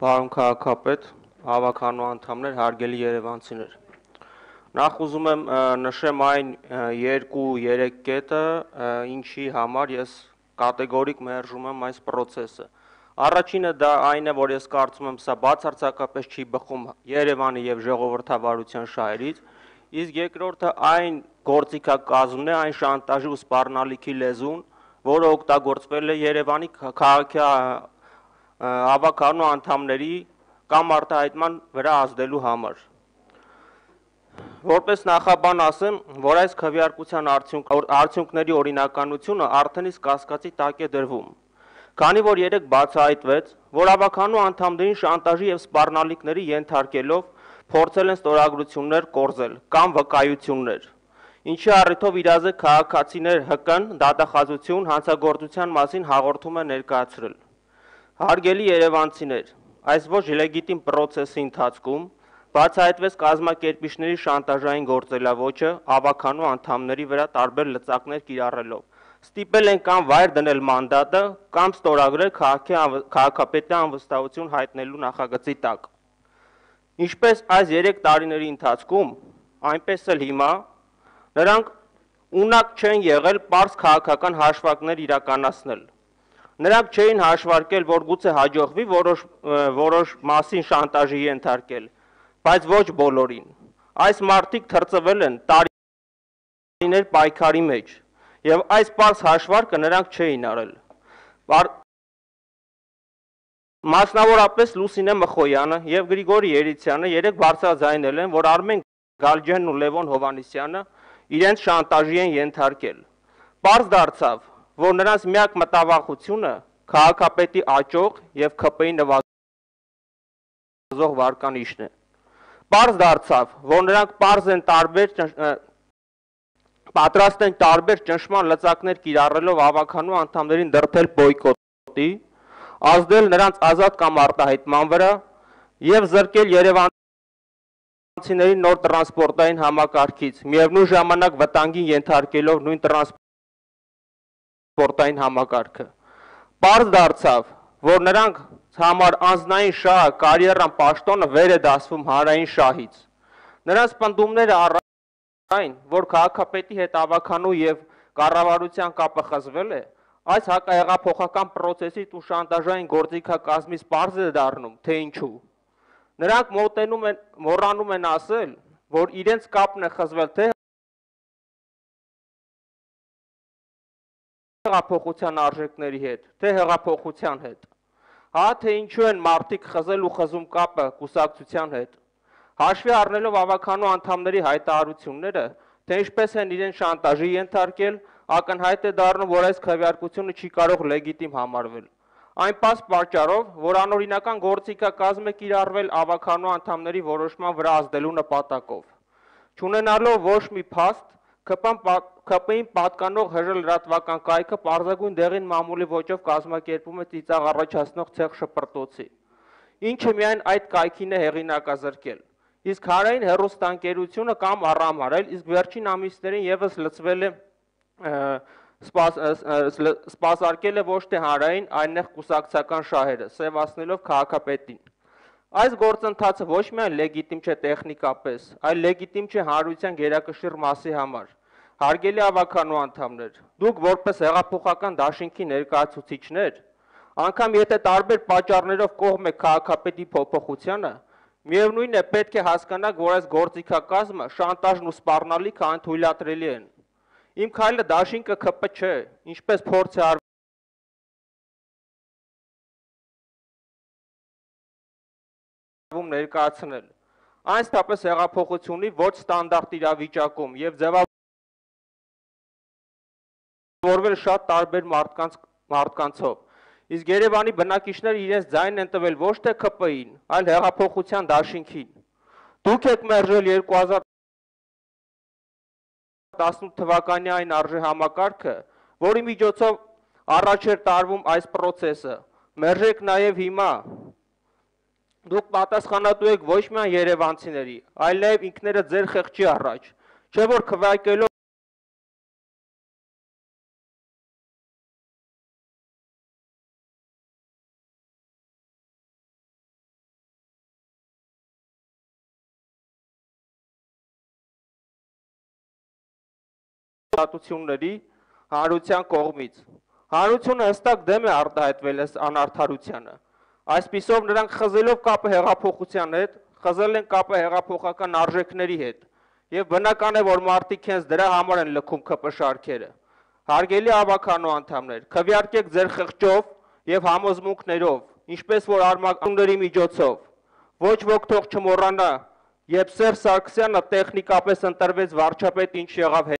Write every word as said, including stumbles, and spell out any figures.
Պարոն քաղաքապետ, հավաքանու անդամներ, հարգելի երևանցիներ։ Նախ ուզում եմ նշեմ այն երկու-երեք կետը, ինչի համար ես կատեգորիկ մերժում եմ այս process-ը։ Առաջինը դա այն է, որ ես կարծում եմ սա բացարձակապես չի բխում Երևանի եւ ժողովրդավարության շահերից, իսկ երկրորդը այն գործիքակազմն է, այն շանտաժի ու սպառնալիքի լեզուն, որը օգտագործվել է Երևանի քաղաքի հավաքանու անդամների կամ արտահայտման վրա ազդելու համար։ Որպես նախաբան ասեմ, որ այս քվեարկության արդյունքների օրինականությունը արդեն իսկ կասկածի տակ է դրվում, քանի որ երեք բացահայտվեց, որ հավաքանու անդամներին շանտաժի եւ սպառնալիքների ենթարկելով փորձել են ստորագրություններ կորզել կամ վկայություններ, ինչի առիթով իրազեկ քաղաքացիներ ՀԿ-ն դատախազություն հանցագործության մասին հաղորդում է ներկայացրել։ Հարգելի երևանցիներ, այս ոչ լեգիտիմ process-ի ընթացքում բացահայտվեց կազմակերպիչների շանտաժային գործելավոճը հավաքանու անդամների վրա տարբեր լծակներ կիրառելով, ստիպել են կամ վայր դնել մանդատը, կամ ստորագրել քաղաքապետի անվստահություն հայտնելու նախագծի տակ։ Ինչպես այս երեք տարիների ընթացքում, այնպես էլ հիմա, նրանք ունակ չեն եղել պարզ քաղաքական հաշվարկներ իրականացնել։ Նրանք չէին հաշվարկել, որ գուցե հաջողվի որոշ որոշ մասին շանտաժի ենթարկել, բայց ոչ բոլորին։ Այս մարդիկ թրծվել են տարիներ պայքարի մեջ, եւ այս պարզ հաշվարկը նրանք չէին արել։ Մասնավորապես Լուսինե Մխոյանը եւ Գրիգորի Երիցյանը երեք բարձրաձայնել են, որ Արմեն Գալջյանն ու Լևոն Հովհաննիսյանը իրենց շանտաժի են ենթարկել։ Պարզ դարձավ, որ նրանց միակ մտավախությունը քաղաքապետի աճող եւ ՔՊ-ի նվազող վարկանիշն է։ Պարզ դարձավ, որ նրանք պարզ են տարբեր պատրաստ են տարբեր ճնշման լծակներ կիրառելով հավաքանու անդամներին դրդել բոյկոտի, ազդել նրանց ազատ կամ արտահայտման վրա եւ զրկել երևանցիների նոր տրանսպորտային համակարգից, միևնույն ժամանակ վտանգի ենթարկելով նույն տրանսպորտային համակարգը։ Պարզ դարձավ, որ նրանք համար անձնային շահը, կարիերան, պաշտոնը վեր է դասվում հանրային շահից։ Նրանց պնդումները այն, որ քաղաքապետի հետ հավաքանու եւ կառավարության կապը խզվել է, այս հակահեղափոխական process-ից ու շանտաժային գործիքակազմից պարզ է դառնում, թե ինչու։ Նրանք մոտենում են, մոռանում են ասել, որ իրենց կապն է խզվել թե հեղափոխության արժեքների հետ, թե հեղափոխության հետ։ Հա թե ինչու են մարդիկ խզել ու խզում կապը կուսակցության հետ։ Հաշվի առնելով հավաքանու անդամների հայտարարությունները, թե ինչպես են իրեն շանտաժի ենթարկել, ակնհայտ է դառնում, որ այս քվեարկությունը չի կարող լեգիտիմ համարվել։ Այն պարզ պատճառով, որ անօրինական գործիքակազմ է կիրառվել հավաքանու անդամների որոշման վրա ազդելու նպատակով։ Չունենալով ոչ մի փաստ, ՔՊ-ին պատկանող ՀԺ լրատվական կայքը պարզագույն դեղին մամուլի ոճով կազմակերպում է ծիծաղ առաջացնող ցեղ շպրտոցի, ինչը միայն այդ կայքին է հեղինակազրկել։ Իսկ հանրային հեռուստաընկերությունը կամ առամարել, իսկ վերջին ամիսներին եւս լծվել է սպասարկել է ոչ թե հանրային, այլ կուսակցական շահերը, սևացնելով քաղաքապետին։ Այս գործընթացը ոչ միայն լեգիտիմ չէ տեխնիկապես, այլ լեգիտիմ չէ հանրության գերակշիռ մասի համար։ Հարգելի հավաքանու անդամներ, դուք որպես հեղափոխական դաշինքի ներկայացուցիչներ, անգամ եթե տարբեր պատճառներով կողմ եք քաղաքապետի փոփոխությանը, միևնույն է պետք է հասկանաք, որ այս գործիքակազմը, շանտաժն ու սպառնալիքը անթույլատրելի են։ Իմ քայլը դաշինքը ՔՊ չէ, ինչպես փորձ է արվում ներկայացնել։ Այն ստապես հեղափոխությունի ոչ ստանդարտ իրավիճակում եւ ձևավորվել շատ տարբեր մարդկանց մարդկանցով։ Իսկ Երևանի բնակիչները իրենց ձայնն են տվել ոչ թե ՔՊ-ին, այլ հեղափոխության դաշինքին։ Դուք եք մերժել երկու հազար տասնութ թվականի այն արժեհամակարգը, որի միջոցով առաջ էր տարվում այս process-ը։ Մերժեք նաև հիմա։ Դուք պատասխանատու եք ոչ միայն երևանցիների, այլ նաև ինքներդ ձեր խեղճի առաջ, չէ՞ որ քվեարկելով խրատությունների հանրության կողմից։ Հանրությունը հստակ դեմ է արտահայտվել այս անարդարությանը։ Այսպիսով նրանք խզելով կապը հեղափոխության հետ, խզել են կապը հեղափոխական արժեքների հետ, եւ բնական է, որ մարդիկ հենց դրա համար են լքում ՔՊ շարքերը։ Հարգելի ավականու անդամներ, քվեարկեք ձեր խղճով եւ համոզմունքներով, ինչպես որ արմատների միջոցով։ Ոչ ոք թող չմոռանա, երբ Սերժ Սարգսյանը տեխնիկապես ընտրվեց վարչապետ, ինչ եղավ